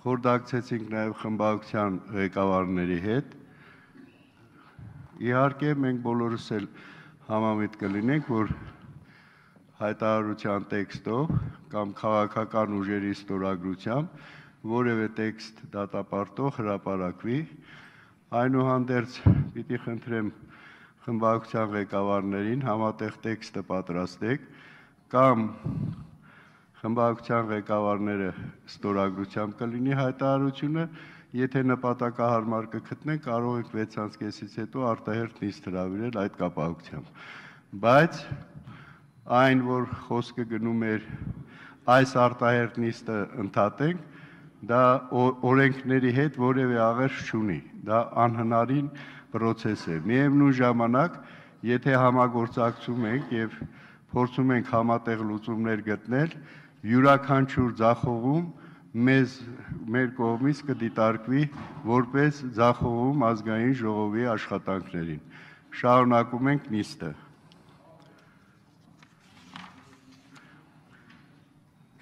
խորհրդակցեցինք նաև խմբակցության ղեկավարների հետ։ Իհարկե մենք բոլորս էլ համամիտ կլինենք, որ հայտարարության տեքստով կամ քաղաքական ուժերի ստորագրությամբ որևէ տեքստ դատապարտող հրապարակվի, այնուհանդերձ պիտի խնդրեմ խմբակցության ղեկավարներին համատեղ տեքստը պատրաստեք կամ խմբակցության ղեկավարները ստորագրությամբ կլինի հայտարարությունը, եթե նպատակահարմար կգտնենք, կարող ենք 6:30-ից հետո արտահերթ նիստ հրավիրել այդ կապակցությամբ։ Բայց այն, որ խոսքը գնում էր այս արտահերթ նիստը ընդհատենք, դա օրենքների հետ որևէ աղերս չունի, դա անհնարին պրոցես է։ Միևնույն ժամանակ, եթե համագործակցում ենք եւ փորձում ենք համատեղ լուծումներ գտնել, յուրաքանչյուր ձախողում մեր կողմից կդիտարկվի որպես ձախողում ազգային ժողովի աշխատանքներին։ Շարունակում ենք նիստը։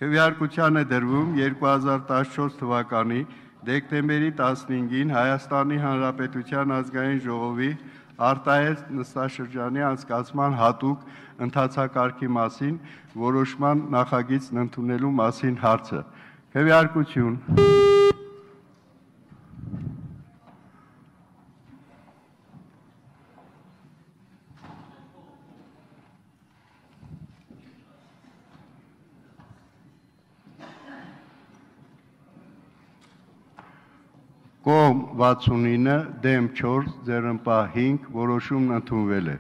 Քվեարկության է դրվում 2014 թվականի դեկտեմբերի 15-ին Հայաստանի Հանրապետության ազգային ժողովի արտահերթ նստաշրջանի անցկացման հատուկ ընթացակարգի մասին որոշման նախագիծն ընդունելու մասին հարցը։ Քվեարկություն։ Կողմ 69, դեմ 4, ձեռնպահ 5, որոշումն ընդունվել է։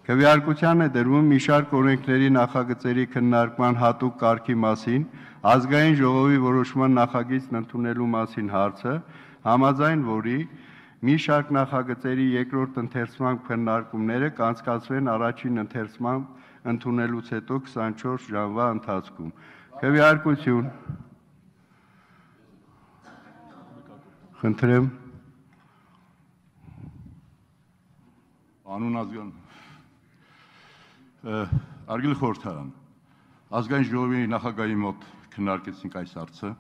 Քվեարկության է դրվում մի շարք օրենքների նախագծերի քննարկման հատուկ կարգի մասին ազգային ժողովի որոշման նախագիծն ընդունելու մասին հարցը, համաձայն որի մի շարք նախագծերի երկրորդ ընթերցման քննարկումները կանցկացվեն առաջին ընթերցման ընդունելուց հետո 24 ժամվա ընթացքում։ Քվեարկություն։ Խնդրեմ։ Անուն ազգան Արգել խորհրդարան, ազգային ժողովի նախագահի մոտ քննարկեցինք այս հարցը,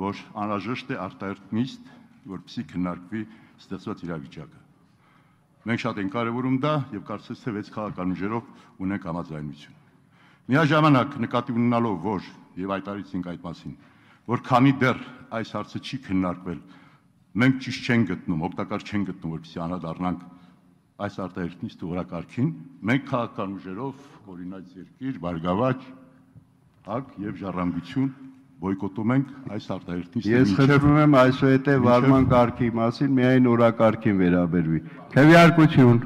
որ անհրաժեշտ է արտահերթ նիստ, որպեսզի քննարկվի ստեղծված իրավիճակը։ Մենք շատ ենք կարևորում դա եւ կարծես թե 6 քաղաքական ուժերով ունենք համաձայնություն։ Միաժամանակ նկատի ունենալով, որ եւ հայտարարեցինք այդ մասին, որ քանի դեռ այս հարցը չի քննարկվել, մենք ճիշտ չենք գտնում, օգտակար չենք գտնում, որպեսզի անդրադառնանք այս արտահերթ նիստի օրակարգին, մենք քաղաքական ուժերով, օրինակ երկիր, Բարգավաճ, ՀԱԿ եւ Ժառանգություն բոյկոտում ենք այս արտահերթ նիստը։ Ես խնդրում եմ այսուհետև վարման կարգի մասին միայն օրակարգին վերաբերվի։ Քվեարկություն։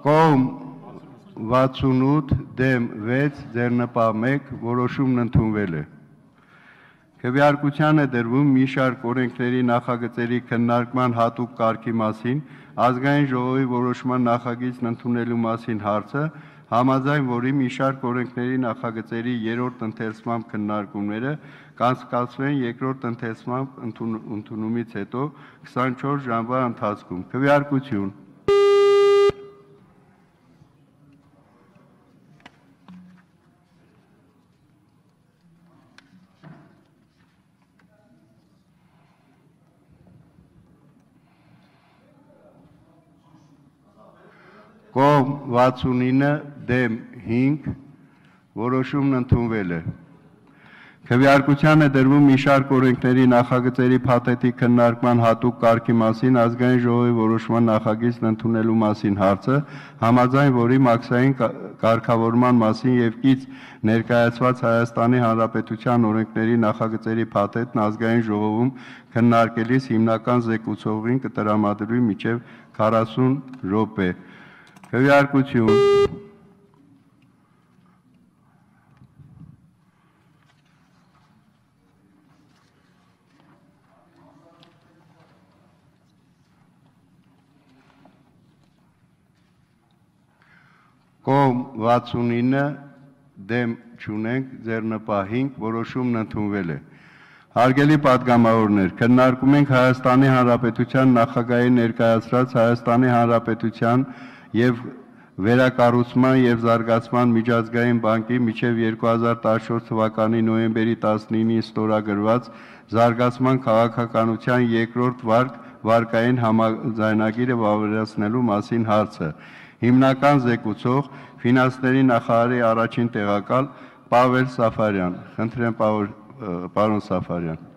Կողմ 68, դեմ 6, ձեռնպահ 1, որոշումն ընդունվել է։ Քվեարկության է դրվում մի շարք օրենքների նախագծերի քննարկման հատուկ կարգի մասին ազգային ժողովի որոշման նախագիծն ընդունելու մասին հարցը, համաձայն որի մի շարք օրենքների նախագծերի երրորդ ընթերցման քննարկումները կանցկացվեն երկրորդ ընթերցման ընդունումից հետո 24 ժամվա ընթացքում։ Քվեարկություն։ Կողմ 69, դեմ 5, որոշումն ընդունվել է։ Քվեարկության է դրվում մի շարք օրենքների նախագծերի փաթեթի քննարկման հատուկ կարգի մասին ազգային ժողովի որոշման նախագիծն ընդունելու մասին հարցը, համաձայն որի մաքսային կարգավորման մասին եւ կից ներկայացված Հայաստանի Հանրապետության օրենքների նախագծերի փաթեթն ազգային ժողովում քննարկելիս հիմնական զեկուցողին կտրամադրվի մինչեւ 40 րոպե։ Քվեարկություն։ Կողմ 69, դեմ չունենք, ձեռնպահինք, որոշումն ընդունվել է։ Հարգելի պատգամավորներ, քննարկում ենք Հայաստանի Հանրապետության նախագահի ներկայացրած Հայաստանի Հանրապետության եւ Վերակառուցման եւ Զարգացման միջազգային բանկի մինչեւ 2014 թվականի նոյեմբերի 19-ին ստորագրված Զարգացման քաղաքականության երկրորդ վարկային համաձայնագիրը վավերացնելու մասին հարցը։ Հիմնական զեկուցող ֆինանսների նախարարի առաջին տեղակալ Պավել Սաֆարյան։ Խնդրեմ, պարոն Սաֆարյան։